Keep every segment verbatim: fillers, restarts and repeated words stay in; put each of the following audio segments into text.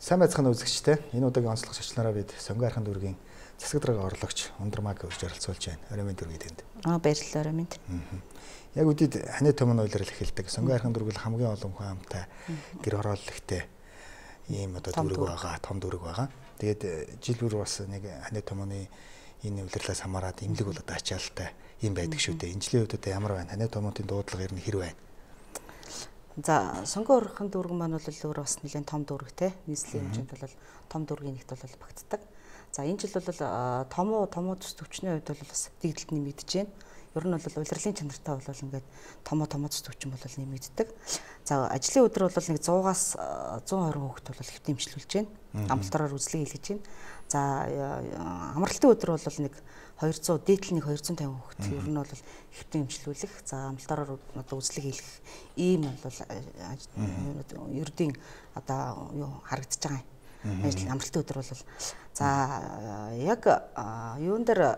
Сайн байцгаана үзэгчтэй. Энэ удаагийн онцлог шачлнараа бид Сонгон Архан дүүргийн засаг дарга орлогч Ундрмаг урьж оролцуулж байна. Орой минь дүүргийн тэнд. Аа баярлалаа орой минь. Яг үдид ханы томон уйлрал эхэлдэг. Сонгон Архан дүүргэл хамгийн олон хүн амтай гэр хорооллогтой ийм одоо дүүрэг байгаа, том дүүрэг байгаа. Тэгээд жил бүр бас нэг ханы томоны энэ уйлрлаас хамаарат эмнэлэг бол одоо ачаалтай юм байдаг шүү дээ. Энэ жилийн үед одоо ямар байна? Ханы томонтын дуудлага ер нь хэр байна? За Сонгон Архан дүүрэг маань бол өөр бас нэлээд том дүүрэгтэй. Нийслэлийн хэмжээнд бол том дүүргийн нэгт бол багтдаг. За энэ жил бол томоо томоо төс төвчний хувьд бол бас дэгдэлт нэмэгдэж байна. Ер нь бол улирлын чанартай бол ингээд томоо томоо төс төвчин бол нэмэгддэг. За ажлын өдөр бол нэг сто-аас one twenty хүүхэд бол хэвтэ имчилүүлж байна. Амлалтаараар үзлэг хийлгэж байна. За амралтын өдөр бол нэг two hundred дээдлэн two hundred fifty хүүхэд ер нь бол хэвтэ имчилүүлэх. За амлалтаараар одоо үзлэг хийлгэх ийм бол ердийн одоо юу харагдаж байгаа юм. Ажил амралтын өдөр бол за яг юун дээр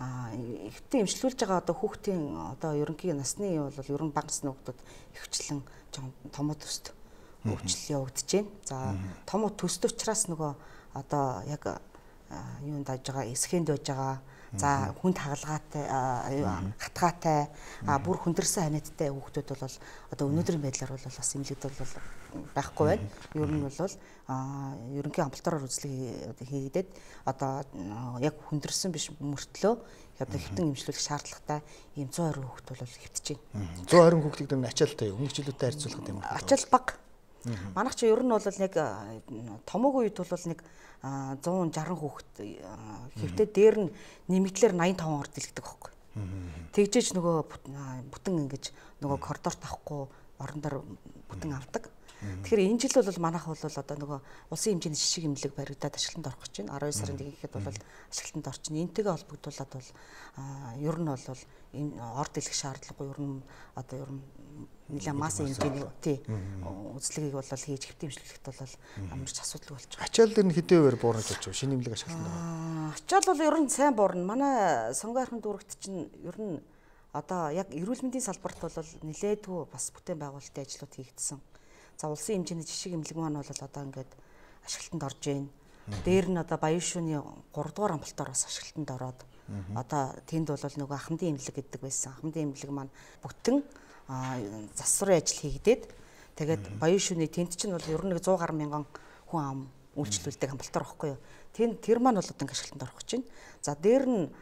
ихтэй имчилүүлж байгаа одоо хүүхдийн одоо ерөнхий насны бол ер нь бага насны хүүхдүүд ихвчлэн томоо төст хөгжил явагдаж байна. За томоо төст учраас нөгөө одоо яг юунд даж байгаа эсхэнд байж байгаа. За хүнд хагалгаатай хатгаатай бүр хүндэрсэн ханиадтай хүүхдүүд бол одоо өнөөдрийн байдлаар бол бас эмнэлэгт бол байхгүй байна. Ер нь бол ерөнхий амлалтаараар үзлэг хийгдээд одоо яг хүндэрсэн биш мөртлөө одоо хэвтэн эмчлүүлэх шаардлагатай ийм one twenty хүүхэд бол хэвтэж байна. one twenty хүүхдүүд нь ачаалтай юу? Өмнөх жилүүтэй харьцуулахад юм аа. Ачаал бага. Манайх чи ер нь бол нэг томоогийн үед бол нэг one sixty хүүхэд хэвтээ дээр нь нэмэгдлэр ninety-five орд дэлгдэг байхгүй. Тэгжээж нөгөө бүтэн ингэж нөгөө коридорт авахгүй орон дээр бүтэн авдаг. Тэгэхээр энэ жил бол манайх бол одоо нөгөө улсын хэмжээний жишг эмнэлэг баригдаад ашиглалтанд орох гэж байна. twelve сарын нэг ихэд бол ашиглалтанд орчин. Энтэйгээ холбогдуулаад бол ер нь бол энэ орд дэлгэх шаардлагагүй ер нь одоо ер нь нэлээд масс хэмжээний тий үзлэгийг бол хийж хэвтэ имжлүүлэхэд бол амарч асуудал болж байгаа. Ачаал дээр нь хэдэн хувиар буурнаж очив? Шинэ эмнэлэг ашиглалтанд ороо. Ачаал бол ер нь сайн буурна. Манай Сонгон Архан дүүрэгт чинь ер нь одоо яг эрүүл мэндийн салбарт бол нэлээдгүй бас бүтээн байгуулалтын ажлууд хийгдсэн. За улсын хэмжээний жишг эмнэлэг маань бол одоо ингээд ашиглалтанд орж байна. Дээр нь одоо Баян шөнийн three дугаар амлалтаар бас ашиглалтанд ороод одоо тэнд бол нөгөө ахмадын эмнэлэг гэдэг байсан. Ахмадын эмнэлэг маань бүтэн засварын ажил хийгдээд тэгээд Баян шөнийн тэнд чинь бол ер нь нэг one hundred мянган хүн ам үйлчлүүлдэг амлалтаар байхгүй юу. Тэнд тэр маань бол одоо ингээд ашиглалтанд орох гэж байна. За дээр нь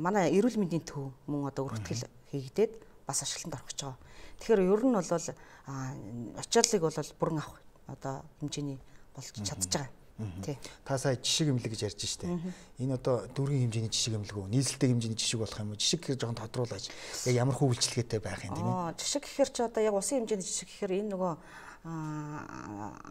манай эрүүл мэндийн төв мөн одоо өргөтгөл хийгдээд бас ашиглалтанд орох гэж байгаа. Тэгэхээр ер нь бол ачааллыг бол бүрэн авах одоо хэмжээний болж чадж байгаа. Тий. Та сая жишг эмнэлэг гэж ярьж штэ. Энэ одоо дүүргийн хэмжээний жишг эмнэлэг үү? Нийслэлтэй хэмжээний жишг болох юм уу? Жишг гэхээр жоохон тодруулаач. Яг ямар хүү үйлчлэгээтэй байх юм тийм ээ? Аа, жишг гэхээр ч одоо яг улсын хэмжээний жишг гэхээр энэ нөгөө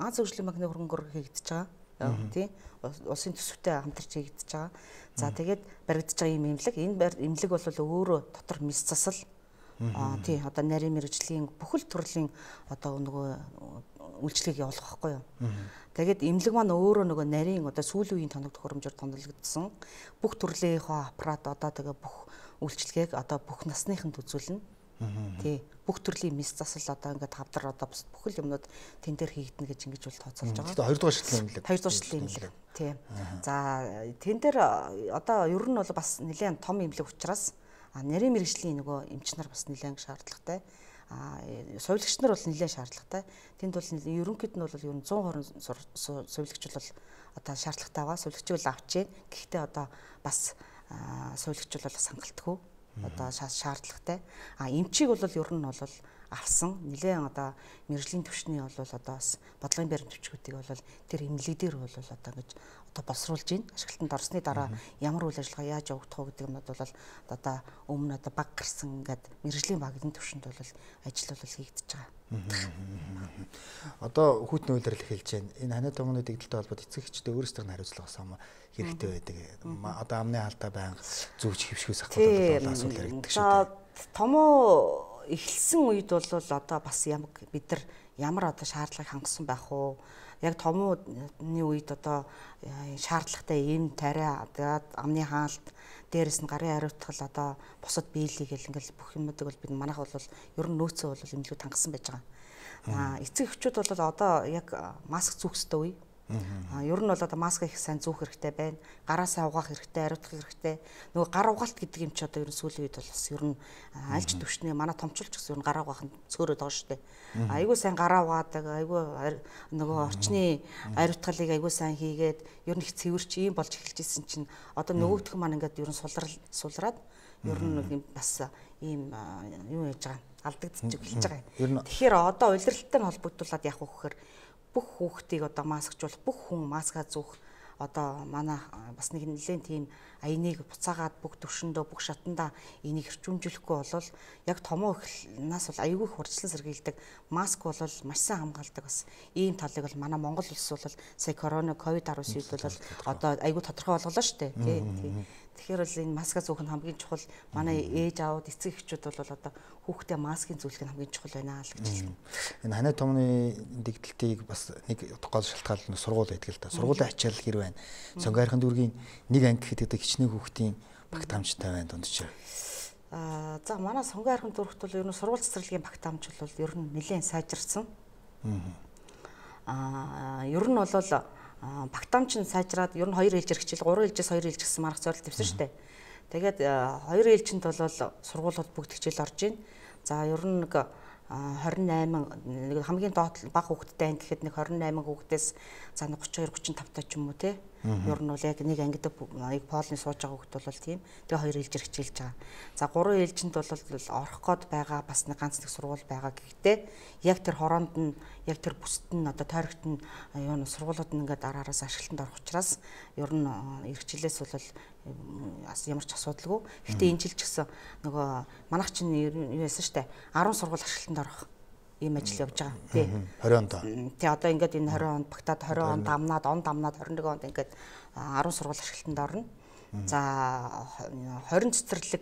Аз хөгжлийн банкны хөрөнгөөр хийгдэж байгаа. Тий. Улсын төсөвтэй хамтарч хийгдэж байгаа. За тэгээд баригдаж байгаа юм эмнэлэг. Энэ эмнэлэг бол өөрөө дотор мис засал аа тий одоо нарийн мэргэжлийн бүхэл төрлийн одоо нөгөө үйлчлэгийг явуулах байхгүй юу. Тэгээд эмнэлэг маань өөрөө нөгөө нарийн одоо сүүлийн үеийн тоног төхөөрөмжөөр томилогдсон бүх төрлийнхөө аппарат одоо тэгээ бүх үйлчлэгийг одоо бүх насныханд үзүүлнэ. Тий бүх төрлийн мис засал одоо ингээд тавдар одоо бүхэл юмнууд тэн дээр хийгдэнэ гэж ингэж бол тооцоолж байгаа. Тэгээд two дугаар шатлын эмнэлэг. two дугаар шатлын эмнэлэг. Тий. За тэн дээр одоо ер нь бол бас нэлээд том эмнэлэг учраас нарийн мэргэжлийн нөгөө эмч нар бас нэлээд шаардлагатай. А сувилагч нар бол нэлээд шаардлагатай. Тэнд бол ерөнхийд нь бол ер нь one twenty сувилагч бол одоо шаардлагатай байгаа. Сувилагч бол авч जैन. Гэхдээ одоо бас сувилагч бол хангалтгүй. Одоо шаардлагатай. А эмчийг бол ер нь бол авсан. Нэлээд одоо мэргэжлийн төвчний бол одоо бас бодлогын баримт төвчгүүдийг бол тэр эмнэлэг дээр бол одоо ингэж одоо боловсруулж байна. Ашиглалтанд орсны дараа ямар үйл ажиллагаа яаж явагдах вэ гэдэг нь бол одоо өмнө одоо баг гарсан ингээд мэргэжлийн багийн төвшөнд бол ажил бол хийгдэж байгаа. Одоо хүүтний үйлрэл эхэлж байна. Энэ ханаа томооны дэгдэлтэй холбоод эцэг эхчдээ өөрсдөө нь хариуцлага асуумаа хэрэгтэй байдаг. Одоо амны хаалтаа байнга зүвж хөвшгөөс ахвал асуудал яригддаг шүү дээ. Томоо эхэлсэн үед бол одоо бас ямар бид нар ямар одоо шаардлагыг хангасан байх уу? Яг томооны үед одоо шаардлагатай эм тариа амны хаалт дээрэс нь гарын хариуцлага одоо бусад биелийг гэл ингээл бүх юмнуудыг бол бид манайх бол ер нь нөөцөө бол эмнэлэг тангасан байж байгаа. Аа эцэг эхчүүд бол одоо яг маск зүүх ёстой үе. А ер нь бол одоо маска их сайн зүүх хэрэгтэй байна. Гараасаа угаах хэрэгтэй, ариутгах хэрэгтэй. Нөгөө гар угаалт гэдэг юм чи одоо ер нь сүүлийн үед бол бас ер нь альж төвшнээ манай томчулч гэсэн ер нь гараа угаах нь цөөрөд байгаа шүү дээ. Айгүй сайн гараа угаадаг, айгүй нөгөө орчны ариутгалыг айгүй сайн хийгээд ер нь их цэвэрч ийм болж эхэлж исэн чинь одоо нөгөөх маань ингээд ер нь сулрал сулраад ер нь бас ийм юу яаж байгаа алдагдчих эхэлж байгаа юм. Тэгэхээр одоо улиралтай нь холбогдуулаад яах вэ гэхээр бүх хүүхдийг одоо маскжуулах, бүх хүн маска зүүх одоо манай бас нэг нэлээд тийм аяныг буцаагаад бүх төвшөндөө бүх шатандаа энийг хэрчүүмжлэхгүй болвол яг томоо ихнаас бол аюулгүй хурцлан сэргийлдэг маск бол маш сайн хамгаалдаг бас ийм талыг бол манай Монгол улс бол сая корона ковид дөрвөн үед бол одоо аюулгүй тодорхой болголоо шүү дээ тий. Тэгэхээр бол энэ маска зүүх нь хамгийн чухал. Манай ээж аауд эцэг эхчүүд бол одоо хүүхдээ маскын зүүлэх нь хамгийн чухал байна л гэж хэлсэн. Энэ ханаа томны дэгдэлтийг бас нэг гол шалтгаан нь сургууль байдаг л да. Сургуулийн ачаалал хэр байна. Сонгойрхон дүүргийн нэг анги гэхэд хичнээн хүүхдийн багт хамжтай байна дунд чинь. Аа за манай сонгойрхон дүүрэгт бол ер нь сургууль цэцэрлэгийн багт хамж бол ер нь нэлээд сайжирсан. Аа ер нь бол багтаамч нь сайжраад ер нь хоёр ээлжээр хичээл гурван ээлжээс хоёр ээлж гэсэн маргац зорилт тавьсан шүү дээ. Тэгээд хоёр ээлжинд бол сургуулиуд бүгд хичээл орж ийн. За ер нь нэг двадцать восемь нэг хамгийн доод бага хүүхэдтэй анги гэхэд нэг двадцать восемь хүүхдээс за нэг тридцать two forty-five та ч юм уу те. Ер нь бол яг нэг ангид яг полны сууж байгаа хүүхд бол тийм. Тэгээ хоёр ээлжээр хичээлж байгаа. За гурван ээлжинд бол орох гээд байгаа бас нэг ганц нэг сургууль байгаа гэхдээ яг тэр хороонд нь яг тэр бүсд нь одоо тойрогт нь юу н сургуулиуд нь ингээд араараас ашиглалтанд орох учраас ер нь эрхчлээс бол ямар ч асуудалгүй. Гэхдээ энэ жил ч гэсэн нөгөө манайх чинь юу яасан штэ ten сургууль ашиглалтанд орох ийм ажил явж байгаа. Тий. twenty онд. Тий одоо ингээд энэ twenty онд багтаад twenty онд дамнаад он дамнаад twenty-one онд ингээд ten сургууль ашиглалтанд орно. За twenty цэцэрлэг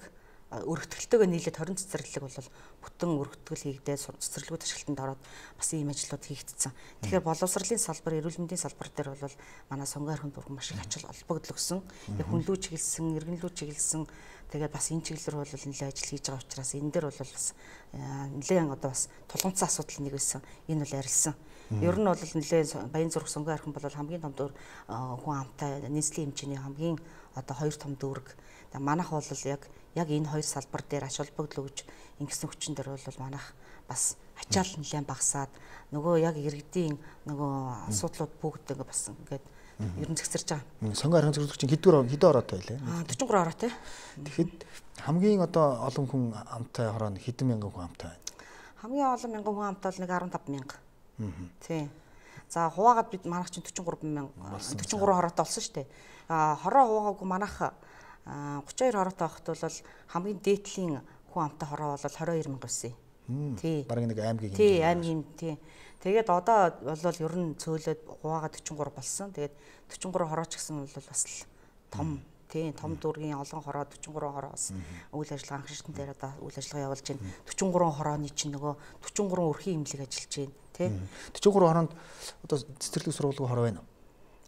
өргөтгөлтөөгөө нийлээд twenty цэцэрлэг бол бүтэн өргөтгөл хийгдээ цэцэрлэгүүд ашиглалтанд ороод бас ийм ажлууд хийгдсэн. Тэгэхээр боловсролын салбар, эрүүл мэндийн салбар дээр бол манай сонгойрхон дүүрэг маш их ачаал холбогдол өгсөн. Яг хүнлүү чиглэсэн, иргэнлүү чиглэсэн тэгээд бас энэ чиглэлээр бол нэлээд ажил хийж байгаа учраас энэ дээр бол бас нэлээд одоо бас тулгымцсан асуудал нэг байсан. Энэ бол арилсан. Ер нь бол нэлээд Баянзүрх сонгойрхон бол хамгийн том дүүрэг хүн амтай нийслэлийн хэмжээний хамгийн одоо хоёр том дүүрэг. Манайх бол яг яг энэ хоёр салбар дээр ач холбогдол өгж ингэсэн хүчин дээр бол манайх бас ачаал нэлээд багасаад нөгөө яг иргэдийн нөгөө асуудлууд бүгд ингээ бас ингээд ер нь зэгцэрж байгаа. Сонгойрхон зөвлөгч чинь хэдгээр хэдэн ороотой байлаа? forty-three ороотой. Тэгэхэд хамгийн одоо олон хүн амтай хороо нь хэдэн мянган хүн амтай байна? Хамгийн олон мянган хүн амтай бол нэг fifteen мянга. Тий. За хуваагаад бид манайх чинь forty-three мянга forty-three хороотой болсон шүү дээ. А хороо хуваагаагүй манайх thirty-two хороотой байхад бол хамгийн дээдлийн хүн амтай хороо бол twenty-two мянга байсан. Тий. Бараг нэг аймгийн хэмжээ. Тий, аймгийн тий. Тэгээд одоо бол ер нь цөөлөд хуваагаад forty-three болсон. Тэгээд forty-three хорооч гэсэн бол бас том тий том дүүргийн олон хороо forty-three хороо бас үйл ажиллагаа анх шатн дээр одоо үйл ажиллагаа явуулж байна. forty-three хорооны чинь нөгөө forty-three өрхийн имлэг ажиллаж байна тий. forty-three хороонд одоо цэцэрлэг сургуулийн хороо байна уу?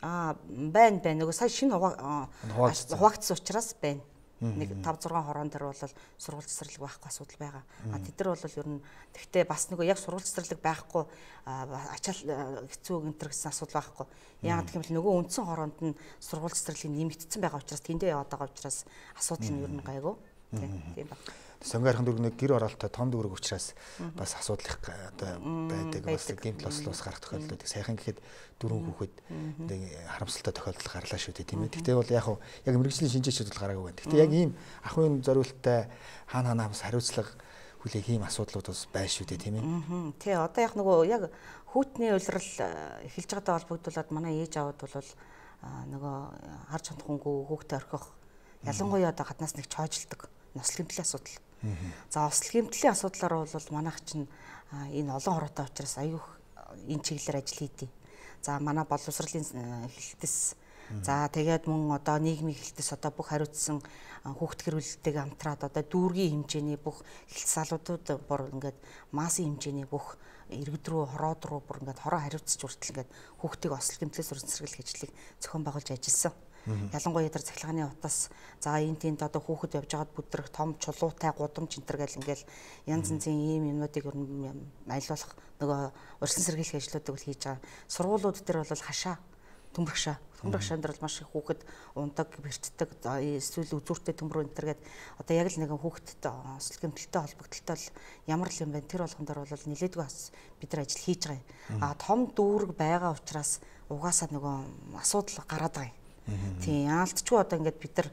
Аа байна байна. Нөгөө сая шинэ хуваагдсан учраас байна. Нэг five six хороон дээр бол сургууль цэцэрлэг байхгүй асуудал байгаа. А тэд нар бол ер нь тэгтээ бас нөгөө яг сургууль цэцэрлэг байхгүй ачаал хэцүү гэнтэр гэсэн асуудал байхгүй. Яг гэх юм бол нөгөө үндсэн хороонд нь сургууль цэцэрлэг нэмэгдсэн байгаа учраас тэндээ яваад байгаа учраас асуудал нь ер нь гайгүй. Тийм ба. Сонгойрхон дүүрэг нэг гэр оролттой том дүүрэг учраас бас асуудал их одоо байдаг. Бас гэмтэл ослоос гарах тохиолдол байдаг. Сайхан гэхэд дөрвөн хүүхэд нэг харамсалтай тохиолдол гарлаа шүү дээ тийм ээ. Гэхдээ бол яг яг мэрэгжлийн шинжээчид бол гараагүй байна. Гэхдээ яг ийм ахын зориулттай хаана хаана бас хариуцлага хүлээх ийм асуудлууд бас байна шүү дээ тийм ээ. Тий одоо яг нөгөө яг хүүтний улирал эхэлж байгаатай холбогдуулаад манай ээж аауд бол нөгөө харж чадахгүйгүй хүүхдээ орхих ялангуяа одоо гаднаас нэг чойжилдаг нослол гэмтлийн асуудал. За ослол гэмтлийн асуудлаар бол манайх чинь энэ олон хороотой учраас аюух энэ чиглэлээр ажил хийдэг. За манай боловсролын хэлэлтэс за тэгээд мөн одоо нийгмийн хэлэлтэс одоо бүх хариуцсан хүүхд гэрүүлэлтэйг хамтраад одоо дүүргийн хэмжээний бүх хэлэлт салуудууд бүр ингээд массын хэмжээний бүх иргэд рүү хороод руу бүр ингээд хороо хариуцж хүртэл ингээд хүүхдийг ослол гэмтлээс урьд сэргийлэх ажлыг зохион байгуулж ажилласан. Ялангуяа тэр цахилгааны утас за энэ тэнд одоо хүүхэд явж байгаад бүдрэх том чулуутай гудамж энтер гэл ингээл янз янзын ийм юмнуудыг ер нь айлуулах нөгөө урьдчилан сэргийлэх ажлуудыг бол хийж байгаа. Сургуулиуд дээр бол хашаа төмөргшаа. Төмөргшаан дээр бол маш их хүүхэд ундаг, бэртдэг, эсвэл үзүүртэй төмөр өнтер гэдэг одоо яг л нэг хүүхэдтэй ослог гэмтэлтэй холбогдлолтой ямар л юм бэ? Тэр болгон дээр бол нэлээдгүй бас бид нар ажил хийж байгаа юм. А том дүүрэг байгаа учраас угаасаа нөгөө асуудал гараад байгаа юм. Тийм яалтчгүй одоо ингээд бид нар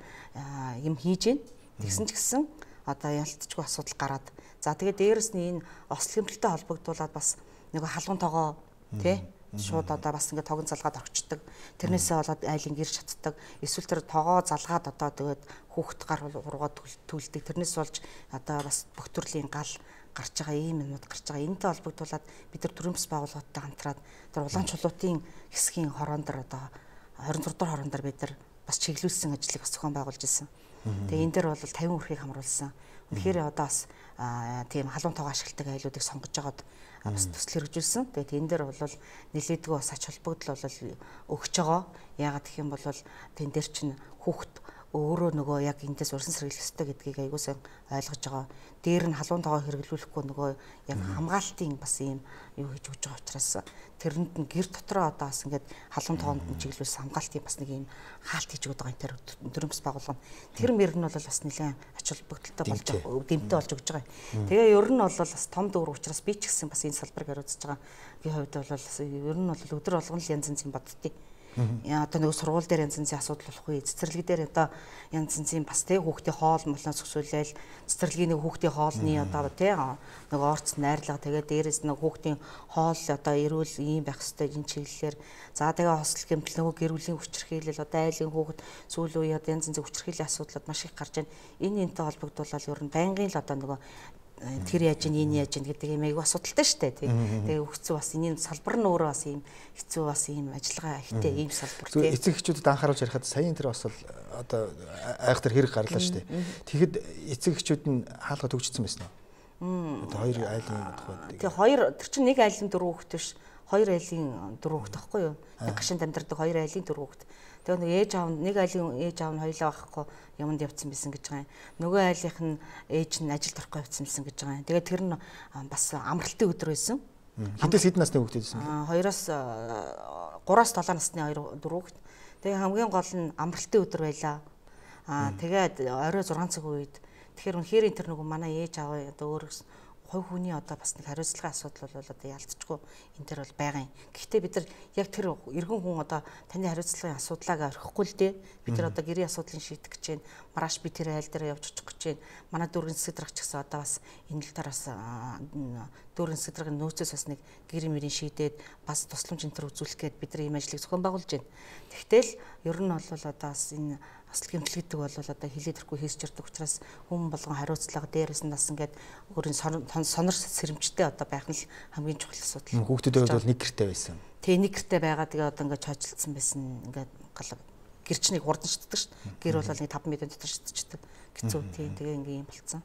юм хийж гин тэгсэн ч гэсэн одоо ялтчгүй асуудал гараад. За тэгээд дээрэс нь энэ ослог гэмтэлтэй холбогдуулаад бас нөгөө халуун тоогоо тий шууд одоо бас ингээд тогон залгаад орчдөг. Тэрнээсээ болоод айлын гэр шатдаг. Эсвэл тэр тоогоо залгаад одоо тэгээд хүүхэд гар ургаа түлдэг. Тэрнээс болж одоо бас бүх төрлийн гал гарч байгаа ийм юмуд гарч байгаа. Энэтэй холбогдуулаад бид нар төрийн бас байгууллагуудтай хамтраад тэр улаан чулуутын хэсгийн хорон дээр одоо хорин зургаар хорон дээр бид нар бас чиглүүлсэн ажлыг бас зохион байгуулж ирсэн. Тэгээ энэ дээр бол тавин өрхийг хамруулсан. Үнэхээр одоо бас тийм халуун тоогоо ашигладаг айлуудыг сонгож байгаад бас төсөл хэрэгжүүлсэн. Тэгээд энэ дээр бол нэлээдгүй бас ач холбогдол бол өгч байгаа. Яагаад гэх юм бол тэн дээр чинь хүүхэд өөрөө нөгөө яг эндээс урьсан сэргийлэх ёстой гэдгийг аягүй сайн ойлгож байгаа. Дээр нь халуун тоогоо хэрэглүүлэхгүй нөгөө яг хамгаалтын бас ийм юу хийж өгч байгаа учраас тэрэнд нь гэр дотроо одоо бас ингээд халуун тоогоонд нь чиглүүлсэн хамгаалтын бас нэг ийм хаалт хийж өгöd байгаа энэ тэр төрийн бас байгууллага. Тэр мөр нь бол бас нэлээд ач холбогдолтой болж байгаа, дэмтэй болж өгч байгаа. Тэгээ ер нь бол бас том дүүр учраас би ч гэсэн бас энэ салбарыг хариуцж байгаа. Би хувьд бол ер нь бол өдөр болгон л янз янзын боддتي. Яа одоо нэг сургууль дээр янз янзын асуудал болохгүй. Цэцэрлэг дээр одоо янз янзын бас тэг хүүхдийн хоол молноос өсвөлээл цэцэрлэгийн нэг хүүхдийн хоолны одоо тэг нэг орц найрлага тэгээд дээрээс нэг хүүхдийн хоол одоо эрүүл ийм байх хэрэгтэй энэ чиглэлээр за тэгээ хослол гэмтэл нөгөө гэр бүлийн хүчирхийлэл одоо айлын хүүхэд сүүл үе одоо янз янзын хүчирхийллийн асуудлууд маш их гарч байна. Энэ энэтэй холбогдуулаад ер нь байнгын л одоо нөгөө тэр яаж ин энэ яаж ин гэдэг юм айгүй асуудалтай шүү дээ тий. Тэгээ өгцөө бас энэ салбар нь өөрөө бас ийм хэцүү бас ийм ажиллагаа ихтэй ийм салбар тий. Эцэг эхчүүдэд анхааруулж ярихад саяын тэр бас одоо айхтар хэрэг гарлаа шүү дээ. Тэгэхэд эцэг эхчүүд нь хаалга төгжсөн байсан уу? Одоо хоёр айлын тухайд. Тэгээ хоёр тэр чинь нэг айлын дөрөв хүүхэд биш. Хоёр айлын дөрөв хүүхэд байхгүй юу? Нэг гашинд амьдардаг хоёр айлын дөрөв хүүхэд. Тэгээ нэг ээж аав нэг айлын ээж аав нь хоёлаа байхгүй юмд явцсан байсан гэж байгаа юм. Нөгөө айлынх нь ээж нь ажилд орохгүй явцсан байсан гэж байгаа юм. Тэгээ тэр нь бас амралтын өдөр байсан. Хэдээс хэдэн насны хүүхэд байсан бэ? Хоёроос гураас долоо насны хоёр дөрөв хүүхэд. Тэгээ хамгийн гол нь амралтын өдөр байлаа. Аа тэгээд орой зургаан цаг үед тэгэхээр үнэхээр тэр нөгөө манай ээж аав одоо өөрөөс хувь хүний одоо бас нэг хариуцлагын асуудал бол одоо ялцчихгүй энэ төр бол байгаа юм. Гэхдээ бид нар яг тэр эргэн хүн одоо таны хариуцлагын асуудлаагаа орхихгүй л дээ. Бид нар одоо гэрийн асуудлыг шийдэх гэж байна. Маргааш би тэр айл дээр явж очих гэж байна. Манай дүүргийн засаг даргач гэсэн одоо бас энэ л тараас дүүргийн засаг даргын нөөцөөс бас нэг гэрийн мөрийн шийдээд бас тусламж энэ төр үзүүлэх гээд бид нар ийм ажлыг зохион байгуулж байна. Тэгтэл ер нь бол одоо бас энэ ослог гэмтэл гэдэг бол одоо хилээд ирэхгүй хийж ирдэг учраас хүн болгон хариуцлага дээрээс нь бас ингээд өөрийн сонор сэрэмжтэй одоо байх нь л хамгийн чухал асуудал. Хүүхдүүд бол нэг гэртэй байсан. Тэг нэг гэртэй байгаа тэгээ одоо ингээд чойжлцсан байсан ингээд гал гэрчнийг хурдан шиддэг шүү дээ. Гэр бол нэг таван мэдэн дотор шидчихдэг. Гэцүү тийм тэгээ ингээд юм болцсон.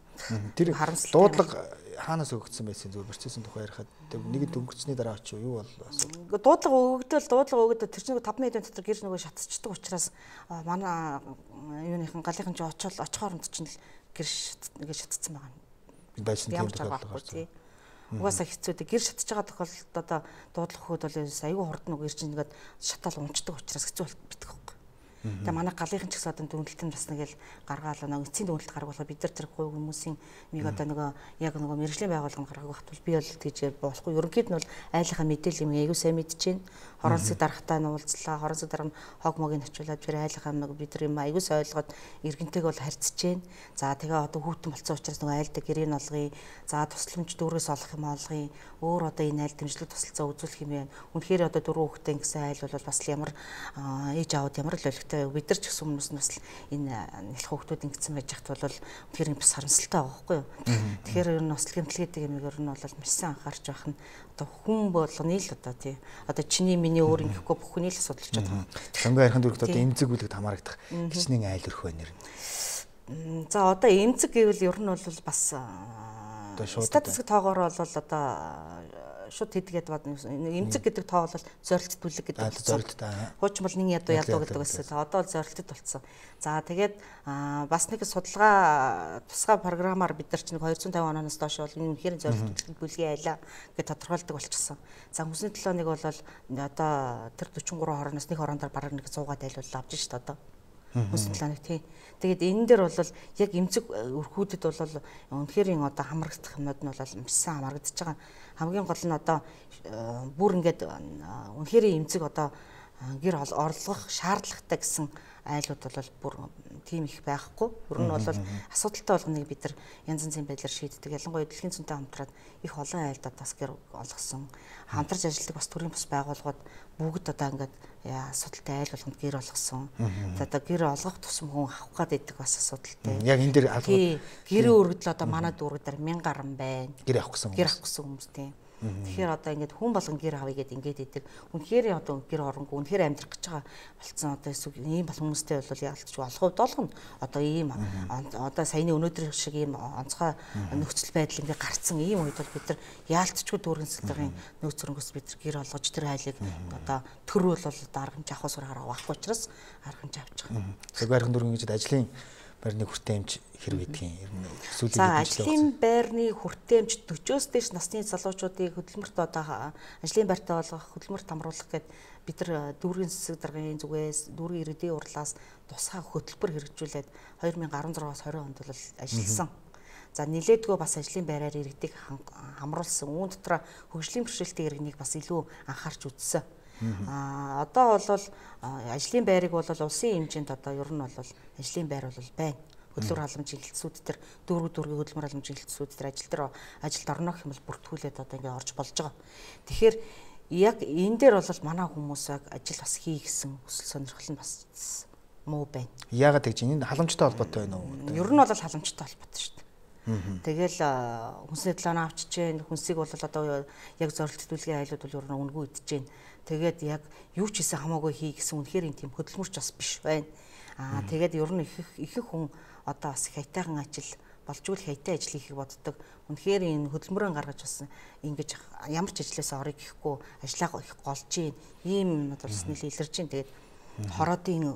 Тэр дуудлага хаанаас өгөгдсөн байсан зүгээр процессын тухай ярихад нэг дөнгөцсний дараа ч юу бол асуудал. Дуудлага өгөгдөл дуудлага өгөгдөл тэр чинь таван мэдэн дотор гэр нөгөө шатчихдаг учраас манай юуныхан галынхан ч очоод очихоор нь чинь гэр ингээд шатцсан байгаа юм. Байсан тийм тохиолдол. Угаасаа хэцүү дээ. Гэр шатж байгаа тохиолдолд одоо дуудлага өгөхөд бол аюу хурдан нөгөө гэр чинь ингээд шатаал унцдаг учраас хэцүү болчихдог байхгүй. Тэгээ манай галынхан ч гэсэн одоо дүнэлтэн бас нэг л гаргаалаа нэг эцсийн дүнэлт гаргуулах бид нар тэр хувь хүмүүсийн нэг одоо нөгөө яг нөгөө мэрэгжлийн байгууллага гаргах хатвал би бол тэгж болохгүй. Ерөнхийд нь бол айлынхаа мэдээлэл юм аягүй сайн мэдж байна. Хорон засаг даргатай нь уулзлаа. Хорон засаг дарга нь хог могийг очиулаад тэр айлынхаа бид нар юм аягүй сайн ойлгоод иргэнтэйг бол харьцаж байна. За тэгээ одоо хүүтэн болцсон учраас нөгөө айлдаа гэрийг олгоё. За тусламж дүүрээс олох юм олгоё. Өөр одоо энэ айл дэмжлэг тусалцаа үзүүлэх юм байна. Үнэхээр одоо дөрөв хүүхдээ гэсэн айл бол бас ямар ээж аауд ямар л олигтой бид нар ч гэсэн хүмүүс нь бас энэ нэлх хүүхдүүд ингэсэн байж хат бол үнэхээр бас харамсалтай байгаа байхгүй юу. Тэгэхээр ер нь ослог гэмтэл гэдэг юм ер нь бол маш сайн анхаарч байх нь одоо хүн болгоны л одоо тий одоо чиний миний өөр ингэхгүй бүх хүний л асуудал болчиход байгаа. Сонгой харихын дөрөвд одоо эмзэг үлэгт хамаарагдах хичнээн айл өрх байна нэр. За одоо эмзэг гэвэл ер нь бол бас статистик тоогоор бол одоо шууд хийдгээд бод эмзэг гэдэг тоо бол зорилт бүлэг гэдэг. Зорилт та. Хуучин бол нэг ядуу ядуу гэдэг байсан. Одоо бол зорилтод болцсон. За тэгээд бас нэг судалгаа тусгай програмаар бид нар чинь двести пенких оноос доош бол энэ үнэхээр зорилт бүлгийн айлаа гэж тодорхойлдог болчихсон. За хүнсний төлөө нэг бол одоо тэр дөрвөн гурван хорооноос нэг хорондор бараг нэг цуугаад айлуул авч шít одоо. Хүнсний төлөө тий. Тэгээд энэ дээр бол яг эмзэг өрхүүдэд бол үнэхээр одоо хамрагдах юмнууд нь бол маш сайн хамрагдаж байгаа. Хамгийн гол нь одоо бүр ингээд үнэхээр эмзэг одоо гэр орлох шаардлагатай гэсэн айлууд бол бүр тийм их байхгүй. Ер нь бол асуудалтай болгоныг бид нар янз янзын байдлаар шийддэг. Ялангуяа дэлхийн зүйнтэй хамтраад их олон айлдад бас гэр олгосон. Хамтарч ажилладаг бас төрийн бас байгууллагууд бүгд одоо ингээд асуудалтай айл болгонд гэр олгосон. Одоо гэр олгох тусам хүн авах гээд байдаг бас асуудалтай. Яг энэ дээр албад гэрээ өргөдөл одоо манай дүүрэг дээр мянган гарan байна. Гэр авах гэсэн хүмүүс. Гэр авах гэсэн хүмүүс тийм. Тэгэхээр одоо ингээд хүн болгон гэр авъя гэд ингээд идэг. Үнэхээр одоо гэр оронгүй үнэхээр амьдрах гэж байгаа болцсон одоо эсвэл ийм бол хүмүүстэй бол яалтч олох хувьд олгоно. Одоо ийм одоо саяны өнөөдрийн шиг ийм онцгой нөхцөл байдал ингээд гарцсан ийм үед бол бид нар яалтчгүй дүүргэн сэлгийн нөөц зөрөнгөөс бид нар гэр олгож тэр хайлыг одоо төр бол одоо аргамж авах усраар авахгүй учраас аргамж авч байгаа. Сэгвэрхэн дүүргэн гэж ажлын байрны хүртээмж хэрэг гэдгийг ер нь сүүлийн За ажлын байрны хүртээмж дөрвөөс дээш насны залуучуудыг хөдөлмөрт одоо ажлын байртаа болгох, хөдөлмөрт хамруулах гэдэг бид нар дүүргийн засаг даргын зүгээс дүүргийн иргэдийн урлаас тусгай хөтөлбөр хэрэгжүүлээд две тысячи десять оноос тwenty онд бол ажилласан. За нилээдгөө бас ажлын байраар иргэдийг хамруулсан. Үүн дотор хөгжлийн бэрхшээлтэй иргэнийг бас илүү анхаарч үзсэн. А одоо бол ажлын байрыг бол улсын хэмжээнд одоо ер нь бол ажлын байр бол байна. Хөдөлмөр халамжийн хэлтсүүд төр дүүрэг дүүргийн хөдөлмөр халамжийн хэлтсүүд төр ажил дээр ажилд орно гэх юм бол бүртгүүлээд одоо ингээ орж болж байгаа. Тэгэхээр яг энэ дээр бол манай хүмүүс ажил бас хий гэсэн хүсэл сонирхол нь бас муу байна. Яагаад гэж энэ халамжтай холбоотой байна уу? Ер нь бол халамжтай холбоотой шүү дээ. Тэгэл хүнсний төлөө авчиж जैन хүнсийг бол одоо яг зорилт төлөвлөгийн айлууд бол ер нь үнгүй идэж जैन. Тэгээд яг юу ч хийсэн хамаагүй хий гэсэн үнэхээр тийм хөдөлмөрч бас биш байна. Аа тэгээд ер нь их их хүн одоо бас хайтайхан ажил болжгүй хайтай ажил хийхийг боддог. Үнэхээр энэ хөдөлмөрөө гаргаж бас ингэж ямар ч ажлаас орыг гэхгүй ажиллаа их голж ийн. Ийм бол нэлээд илэрж ийн. Тэгээд хороодын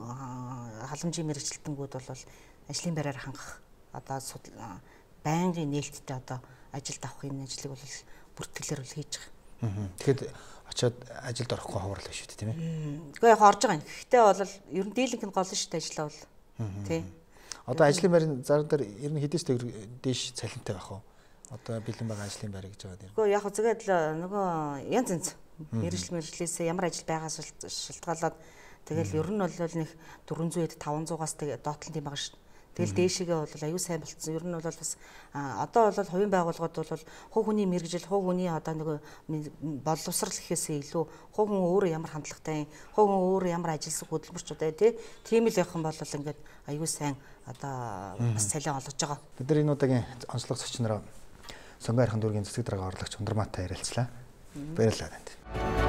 халамжийн мэрэгчлэлтэнгүүд бол ажлын байраар хангах одоо байнгын нээлттэй одоо ажилд авах энэ ажлыг бол бүртгэлээр бол хийж байгаа. Тэгэхэд очиод ажилд орохгүй ховорлоо шүү дээ тийм ээ. Гэхдээ яг орж байгаа юм. Гэхдээ бол ер нь дийлэнх нь гол шүү дээ ажиллаа бол. Тий. Одоо ажлын байрын зар дээр ер нь хэдээс дээш цалинтай байх уу? Одоо бэлэн байгаа ажлын байр гэж байгаа нэр. Гэхдээ яг зөвгээд нөгөө янз янз мэрэгжил мэрэгжлээс ямар ажил байгаас шалтгаалаад тэгэл ер нь бол нэг дөрвөнзөө five hundred-аас тэгээ доотлон тийм байгаа шүү. Тэгэл дээшигээ бол аюу сайн болцсон. Ер нь бол бас одоо бол хувийн байгууллагууд бол хувь хүний мэрэгжил, хувь хүний одоо нэг боловсрал гэхээсээ илүү хувь хүн өөрөө ямар хандлагатай, хувь хүн өөрөө ямар ажилсаг хөдөлмөрчтэй тий. Тийм л явах юм бол ингээд аюу сайн одоо бас цалин олгож байгаа. Бид нар энэ удаагийн онцлог зочнороо Сонгоо Архан дүүргийн засаг дарга орлогч Ундрмаатай ярилцлаа. Баярлалаа танд.